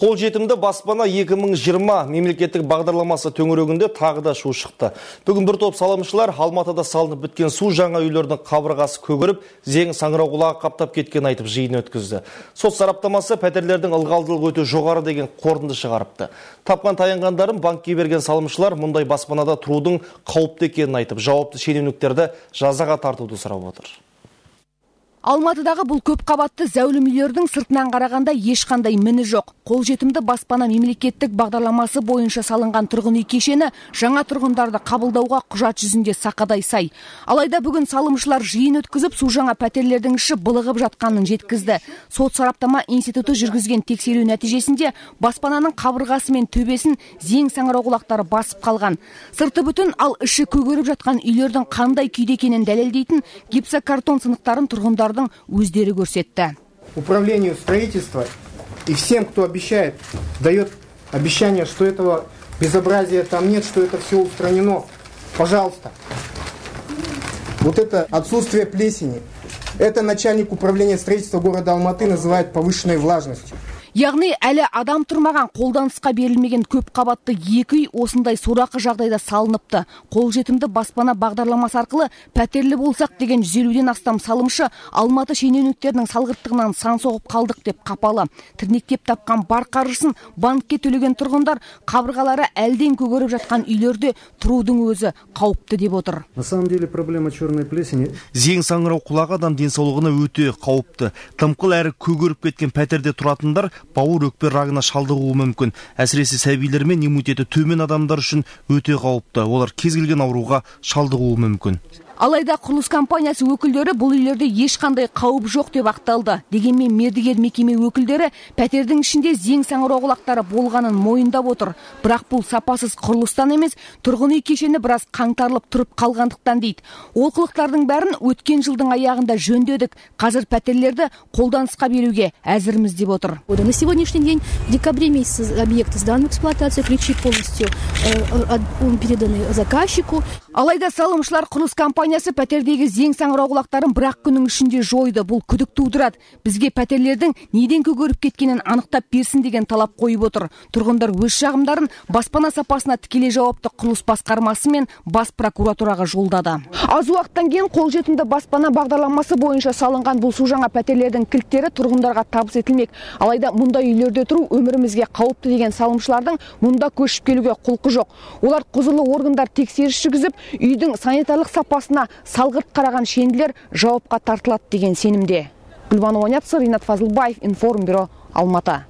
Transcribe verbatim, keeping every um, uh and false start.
Қолжетімді баспана екі мың жиырма мемлекеттік бағдарламасы төңірегінде тағы да шу шықты. Бүгін бір топ салымшылар Алматыда салынып біткен су жаңа үйлердің қабырғасы көгеріп, зең саңырауқұлағы қаптап кеткен айтып жиын өткізді. Сот сараптамасы пәтерлердің ылғалдылығы өте жоғары деген қорытынды шығарыпты. Тапқан таянғандарын банкке берген салымшылар мұндай баспанада тұрудың қауіпті екенін айтып, жауапты шенеуніктерді жазаға тартуды сұрап отыр. Алматыдағы бұл көп қабатты зәулім үйлердің сыртынан қарағанда ешқандай міні жоқ. Қолжетімді баспана мемлекеттік бағдарламасы бойынша салынған тұрғын үй кешені жаңа тұрғындарды қабылдауға құжат жүзінде сақадай сай. Алайда бүгін салымшылар жиын өткізіп, су жаңа пәтерлердің іші былығып жатқанын жеткізді. Сот сараптама институты жүргізген тексеру нәтижесінде баспананың қабырғасы мен төбесін зең саңырауқұлақтары басып қалған. Сырты бүтін, ал іші көгеріп жатқан үйлердің қандай күйде екенін дәлелдейтін гипсокартон сынықтарын тұрғындар өздері көрсетті. Управлению строительства и всем, кто обещает, дает обещание, что этого безобразия там нет, что это все устранено. Пожалуйста. Вот это отсутствие плесени, это начальник управления строительства города Алматы называет повышенной влажностью. Яғни әлі адам тұрмаған, қолданысқа берілмеген көп қабатты екі үй осындай сорақы жағдайда салыныпты. Қолжетімді баспана бағдарламасы арқылы пәтерлі болсақ деген жүз елуден астам салымшы Алматы шенеуніктерінің салғырттығынан сан соғып қалдық деп қапалы. Тірнектеп тапқан бар қаржысын банкке төлеген тұрғындар қабырғалары әлден көгеріп жатқан үйлерде тұрудың өзі қауіпті деп отыр. На самом деле проблема черной плесени. Зең саңырауқұлағы адам денсаулығына өте қауіпті. Тымқыл әрі көгеріп кеткен пәтерде тұратындар бауыр өкпе рагына шалдығуы мүмкін. Әсіресе сәбилер мен иммунитеті төмен адамдар үшін өте қауіпті. Олар кез келген ауруға шалдығуы мүмкін. Алайда құрылыс компаниясы өкілдері бұл үйлерде ешқандай қауіп жоқ деп ақталды. Дегенмен мердігер мекеме өкілдері пәтердің ішінде зең саңырауқұлақтары болғанын мойындап отыр. Бірақ бұл сапасыз құрылыстан емес, тұрғын үй кешені біраз қаңтарылып тұрып қалғандықтан дейді. Олқылықтардың бәрін өткен жылдың аяғында жөндедік. Қазір пәтерлерді қолданысқа беруге әзірміз деп отыр. На сегодняшний день, в декабре месяце объект сдан в эксплуатацию, ключи полностью переданы заказчику. Алайда салымшылар құрылыс компаниясы пәтердегі зең саңырауқұлақтарын бір-ақ күннің ішінде жойды. Бұл күдік тудырады. Бізге пәтерлердің неден көгеріп кеткенін анықтап берсін деген талап қойып отыр. Тұрғындар өз шағымдарын баспана сапасына тікелей жауапты құрылыс басқармасы мен бас прокуратураға жолдады. Аз уақыттан кейін қолжетімді баспана бағдарламасы бойынша салынған бұл су жаңа пәтерлердің кілттері тұрғындарға табыс етілмек. Алайда мұндай үйлерде тұру өмірімізге қауіпті деген салымшылардың мұнда көшіп келуге құлқы жоқ. Олар құзырлы органдар тексеріс жүргізіп, үйдің санитарлық сапасына салғырт қараған шенділер жауапқа тартылады деген сенімде. Гүлбану Оняцыр, Ринат Фазылбаев, Информбюро, Алматы.